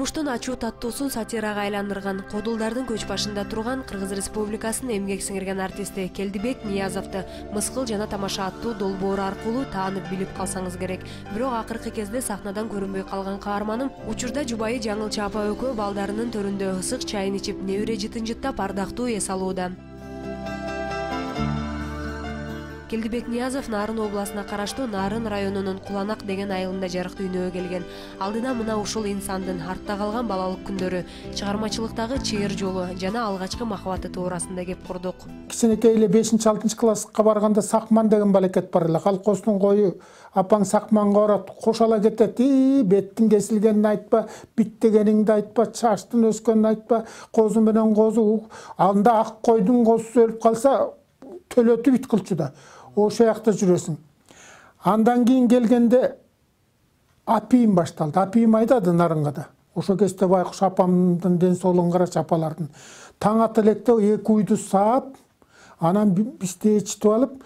Турмуштун ачуу таттуусун сатирага айландырган, кодулдардын көч башында турган Кыргыз Республикасынын эмгек сиңирген артисти Келдибек Ниязовду Мыскыл жана тамаша аттуу долбоору аркылуу таанып билип калсаңыз керек. Бирок акыркы кезде сахнадан көрүнбөй калган каарманым учурда жубайы Жаңылчы апа экөө балдарынын төрүндө ысык чайын ичип, небере жытын-жыттап ардактуу эс алууда. Келдибек Ниязов Нарын областына караштуу Нарын районунун Куланак деген айылында жарык дүйнөгө келген. Алдына мына ушул инсандын артта калган балалык күндөрү, чыгармачылыктагы чыйыр жолу жана алгачкы махабаты туурасында кеп курдук. Кичинекей эле 5-6 класска барганда Сакман деген балекет бар эле. Колкостун кою апаң Сакманга барат, кошала кетет. Беттин кесилгенин айтпа, бит дегениңди айтпа, чачтын өскөнүн айтпа, козу менен козу. Анда ак койдун козусу өлүп калса, төлөтүп бит кылчу да. Ошо жакта жүрөсүң. Андан кийин келгенде апийим башталды. Апийим айдады Нарынга да. Ошо кезде байкуш апамдын ден соолугун карачы, апалардын. Таң ата электе 2 уйду саап, анан бизди ичитип алып,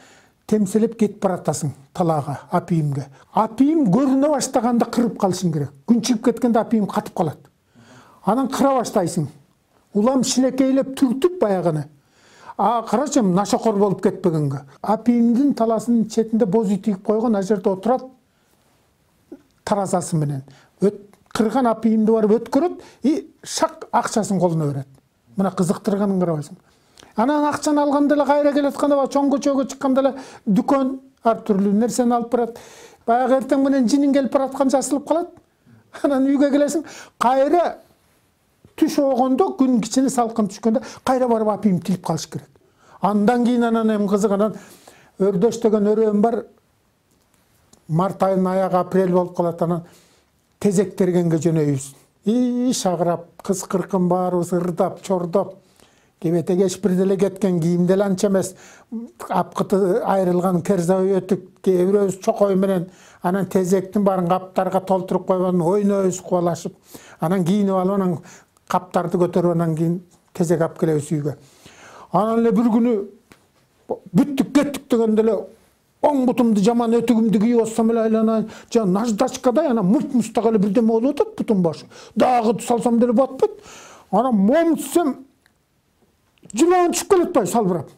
темселеп кетип баратасың талаага, апийимге. Апийим көрүнө баштаганда кырып калышың керек. Күн чыгып кеткенде апийим катып калат. Анан кыра баштайсың. Улам шинекейлеп түртүп баягыны. Карачы, нашокор болуп кетпегенге. Апийимдин таласынын четинде боз үй тигип койгон, ал жерде отурат таразасы менен. Кырган апийимди барып өткөрөт и шак акчасын колуна берет. Мына кызыктырганын карабайсың. Анан акчаны алганда эле кайра келатканда чоң көчөгө чыкканда эле дүкөн ар түрлүү нерсени алып барат. Баягы эртең менен жинин келип бараткан жасылып калат. Анан үйгө келесиң, кайра түш огондо, күн кичине салкын түшкөндө кайра барып апийим тилип калыш керек. Андан кийин анан эми кызыгынан өрдөш деген өрөөм бар. Март айынын аягы апрель болуп калат, анан тезек тергенге жөнөйбүз. Шагырап, кыз-кыркын баарыбыз ырдап, чордоп. Кебетеге эчбир деле кеткен, кийим деле анча эмес. Апкыты айрылган керзабай өтүк, кээ бирөөбүз чокой менен анан тезектин баарын каптарга толтуруп койгон, ойнойбуз кубалашып. Анан кийинип алып, анан каптарды көтөрүп, анан кийин тезек алып келебиз үйгө. Анан эле бир күнү бүттүк кеттик дегенде эле оң бутумду жаман өтүгүмдү кийип алсам эле айланайын, жана наждачкадай анан муп-мустак эле бирдеме болуп атат бутум башы. Дагы салсам деле батпайт. Анан момутсам жылан түшүп келет бай салбырап.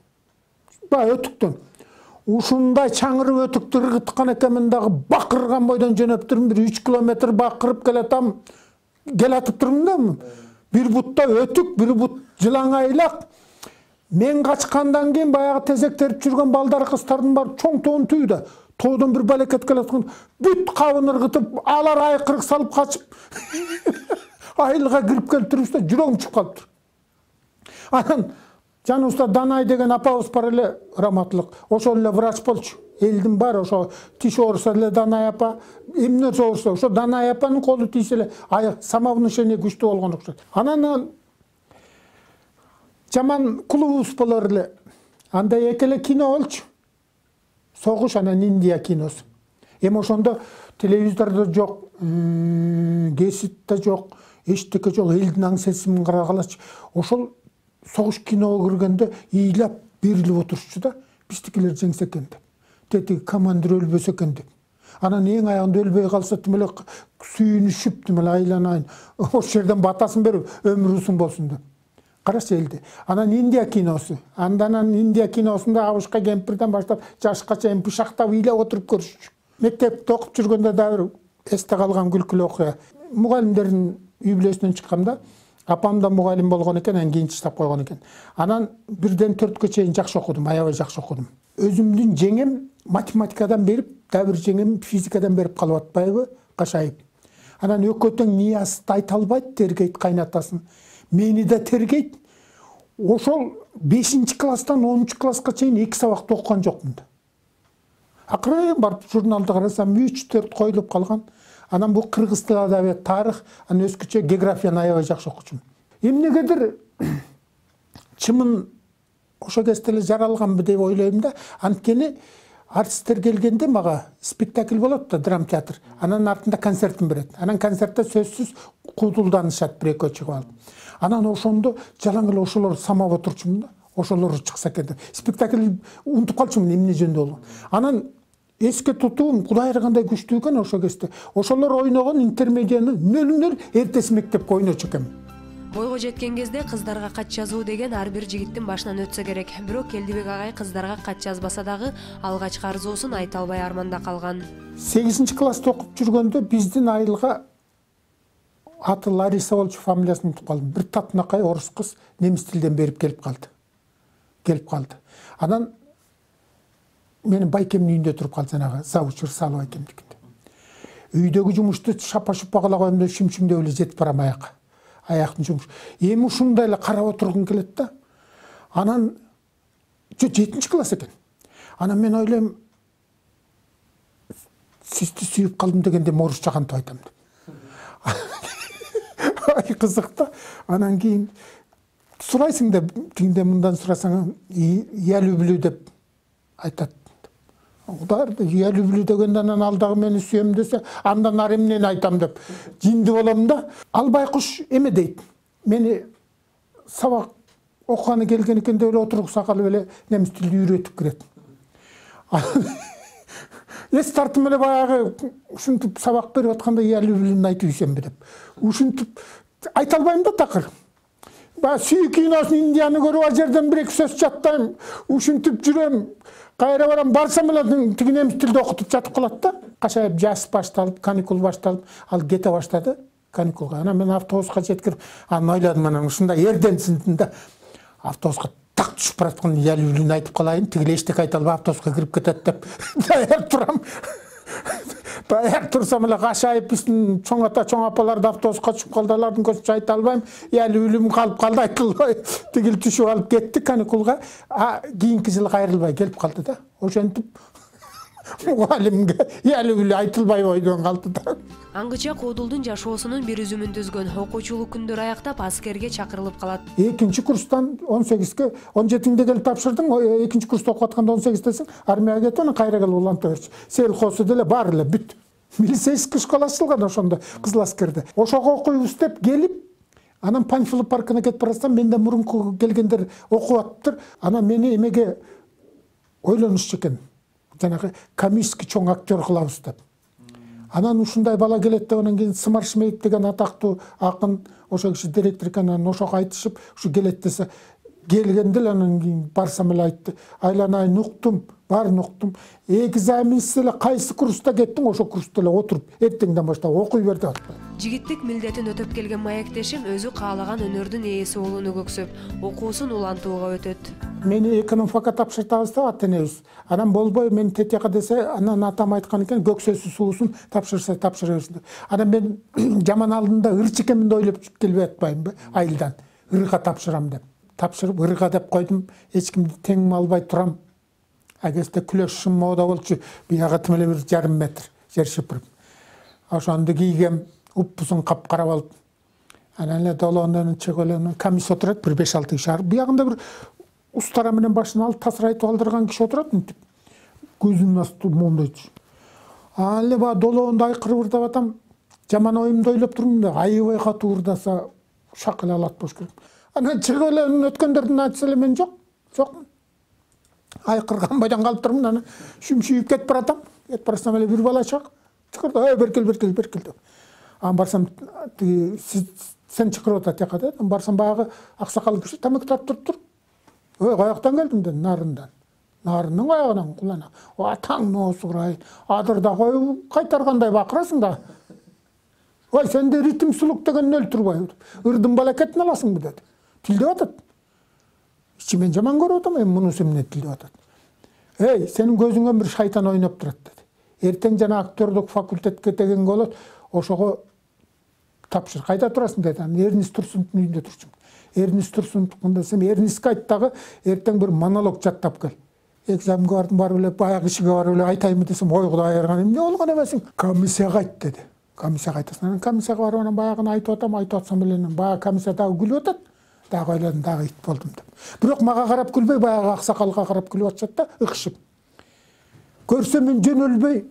Бай өтүктөн. Ушундай чаңырып өтүктү ыргыткан экенмин, дагы бакырган бойдон жөнөп турмун, 3 километр бакырып келатам. Келатып турмун да. Бир бутта өтүк, бир бут жылан айлак. Мен качкандан кийин баягы тезек терип жүргөн балдар, кыздардын баары чоң тоон түйдө. Тоодон бир балекет келаткан, бүт кабын ыргытып, алар айкырык салып качып. Айылга кирип келип турубузда жүрөгүм чыгып калыптыр. Анан жаныбызда Данай деген апабыз бар эле, раматлык. Ошол эле врач болчу. Элдин баары ошо тиш оорусо эле Данай апа, эмне оорусо, ошо Данай апанын колу тийсе эле аяк самовнушение күчтүү болгон окшойт. Анан жаман клубубуз болор эле. Анда эки эле кино болчу. Согуш анан Индия киносу. Эми ошондо телевизордо жок, геситте жок, эчтеке жок, элдин аң сесимин карагалачы. Ошол согуш киного киргенде ыйлап берилип отурчу да. Биздикилер жеңсе экен деп. Тети командир өлбөсө экен деп. Анан эң аягында өлбөй калса тим эле сүйүнүшүп, тим эле айланайын. Ошол жерден батасын берип, өмүр узун болсун деп. Карашы элди. Анан Индия киносу. Андан Индия киносунда абышка кемпирден баштап жашка чейин бышактап ыйлап отуруп көрүшчү. Мектепте окуп жүргөндө да бир эсте калган күлкүлүү окуя. Мугалимдердин үй бүлөсүнөн чыкканда апам да мугалим болгон экен, анан кийин таштап койгон экен. Анан 1-ден 4кө чейин жакшы окудум, аябай жакшы окудум. Өзүмдүн жеңем математикадан берип, да бир жеңем физикадан берип калып атпайбы, кашайып. Анан экөө тең Ниязды айта албайт, тергейт кайнатасын. Мени да тергейт. Ошол 5-класстан 10-класска чейин 2 сабакты окуган жокмун да. Акыры барып журналды карасам 3-4 коюлуп калган. Анан бул кыргыз тили, адабият, тарых, анан өзгөчө географияны аябай жакшы окучумун. Эмнегедир чымын ошо кезде эле жаралганбы деп ойлойм да. Анткени артисттер келгенде мага спектакль болот да, драм театр. Анан артында концертин берет. Анан концертте сөзсүз куудулданышат бир-экөө чыгып алып. Анан ошондо жалаң эле ошолор самап отурчумун да. Ошолор чыкса экен деп. Спектакль унутуп калчумун эмне жөнүндө болгон. Анан эске тутуум Кудай кандай күчтүү экен ошо кезде. Ошолор ойногон интермедияны нөл эртеси мектепке ойночу экенмин. Бойго жеткен кезде кыздарга кат жазуу деген ар бир жигиттин башынан өтсө керек. Бирок Келдибек агай кыздарга кат жазбаса дагы алгачкы арзуусун айта албай арманда калган. 8-класста окуп жүргөндө биздин айылга аты Лариса болчу, фамилиясын унутуп калдым. Бир татынакай орус кыз немис тилден берип келип калды. Анан менин байкемдин үйүндө туруп калды, жанагы завуч Ырсалов байкемдикинде. Үйдөгү жумушту шапа-шупа кыла коем деп шүмшүмдөп эле жетип барам аяктын жумуш. Эми ушундай эле карап отургум келет да. Анан 7-класс экен. Анан мен ойлойм, сизди сүйүп калдым дегенде орусча кантип айтам деп. Ай кызык да. Анан кийин сурайсың деп, тигинде мындан сурасаң, я люблю деп айтат. Удар я люблю дегенде анан ал дагы мени сүйөм десе, андан ары эмнени айтам деп жинди болом да. Ал байкуш эме дейт. Мени сабак окуганы келген экен деп эле отургуса калып эле немис тилди үйрөтүп кирет. Эс тартым эле баягы ушинтип сабак берип атканда я люблюны айтып ийсемби деп. Ушинтип айта албайм да такыр. Баягы сүйүү киносун Индияны көрүп ал жерден бир эки сөз жаттайм. Ушинтип жүрөм. Кайра барам, барсам эле тиги немис тилде окутуп жатып калат да. Кашайып жаз башталып, каникул башталып, ал кете баштады каникулга. Анан мен автобуска жеткирип, анан ойладым, анан ушундай эрденсиндин да автобуска так түшүп бараткан я люблюны айтып калайын, тиги эчтеке айта албай автобуска кирип кетет деп даяр турам. Даяр турсам эле кашайып биздин чоң ата, чоң апалар да автобуска түшүп калды, алардын көзүнчө айта албайм. Я люблюм калып калды, айтылбай. Тигил түшүп алып кетти каникулга. Кийинки жылы кайрылбай келип калды да. Ошентип мугалимге я люблю айтылбай бойдон калды да. Аңгыча Куудулдун жашоосунун бир үзүмүн түзгөн. Окуучулук күндөр аяктап аскерге чакырылып калат. 2-курстан 18ге, 17-де келип тапшырдың, 2-курста окуп атканда 18-десиң, армияга кетип, анан кайра келип уланта берчи. Сельхозу деле бар эле бүт. Милицейский школа ачылган ошондо, Кызыл аскерде. Ошого окуйбуз деп келип, анан Панфилов паркына кетип барсам, менден мурунку келгендер окуп аттыр. Анан мени эмеге ойлонушчу экен. Жанагы комический чоң актер кылабыз деп. Анан ушундай бала келет деп, анан кийин Сымар Шмейт деген атактуу акын, ошо киши директор экен, анан ошого айтышып, ушу келет десе, келгенде эле анан кийин барсам эле айтты. Айланайын, уктум, баарын уктум. Экзаменсиз эле кайсы курста кеттиң, ошо курста эле отуруп, эртеңден баштап окуй бер деп атты. Жигиттик милдетин өтөп келген маектешим өзү каалаган өнөрдүн ээси болууну көксөп, окуусун улантууга өтөт. Мени экономфакка тапшыртабыз деп ата энебиз. Анан болбой мен тетияка десе, анан атам айткан экен, көксөсү суусун тапшырса тапшыра берсин деп. Анан мен жаман алдында ырчы экенмин деп ойлоп келбей атпаймынбы айылдан. Ырга тапшырам деп. Тапшырып ырга деп койдум, эч кимди теңме албай турам. Агесте күлөш мода болчу, бияга тим эле 1,5 метр жер шыпырып. Ошондо кийгем, уппусун капкара болуп. Анан эле долоонун чөгөлөнүн комисс отурат, бир 5-6 киши. Биягында бир устара менен башын алып тасырайтып алдырган киши отурат, мынтип. Көзүнүн асты мондойчу. Анан эле баа долоонду айкырып ырдап атам. Жаман оюмду ойлоп турмун да, айыбай катуу ырдаса шак эле алат болуш керек. Анан чөгөлөнүн өткөндөрдүн айтса эле мен жокмун. Айкырган бойдон калып турмун, анан шүмшүйүп кетип баратам. Кетип барсам эле бир бала чак. Чыкырды, беркел деп. Анан барсам, сен чакырып атат жака деп. Анан барсам баягы аксакал киши тамак тартып туруп. Каяктан келдим деп, нарындан. Нарынның аягынан кулана. Атаң ноосу курайын. Адырда коюп кайтаргандай бакырасың да. Ой, сенде ритм сулук деген нөл турбай. Ырдын балакетін аласың бу деди. Тилдеп атат. Ичимен жаман көрүп атам, мунусу эмне тилдеп атат. Эй, сенин көзүңөн бир шайтан ойноп турат деди. Эртең жана актерлук факультетке деген болот, ошого тапшыр. Кайда турасың деди. Эрнис Турсуновдун үйүндө турчумун. Эрнис Турсуновдун десем, Эрниске айт дагы эртең бир монолог жаттап кел. Экзаменге бардым, барып эле баягы ишиге барып эле айтайынбы десем, ой Кудай айырган, эмне болгон эмесиң? Комиссияга айт деди. Комиссияга айтасың. Анан комиссияга барып анан баягыны айтып атсам эле баягы комиссия дагы күлүп атат. Дагы ойладым, дагы ит болдум деп. Бирок мага карап күлбөй, баягы аксакалга карап күлүп атышат да, ыкшып. Көрсөм мен жөнөлбөй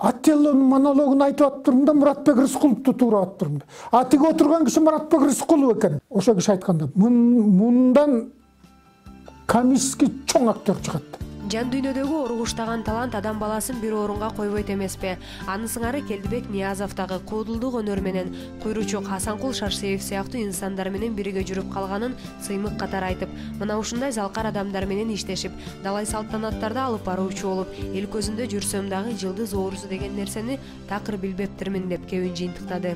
Аттеллонун монологун айтып аттырмын да, Муратбек Рыскуловду туурап аттырмын. Тиги отурган киши Муратбек Рыскулов экен. Ошо киши айтканда, мындан комический чоң актер чыгат. Жан дүйнөдөгү уругуштаган талант адам баласын бир орунга койбойт эмеспи? Анын сыңары Келдибек Ниязов дагы куудулдук өнөр менен Куйручук Хасанкул Шарсеев сыяктуу инсандар менен бирге жүрүп калганын сыймык катары айтып, мына ушундай залкар адамдар менен иштешип, далай салтанаттарды алып баруучу болуп, эл көзүндө жүрсөм дагы жылдыз оорусу деген нерсени такыр билбептирмин деп кебин жыйынтыктады.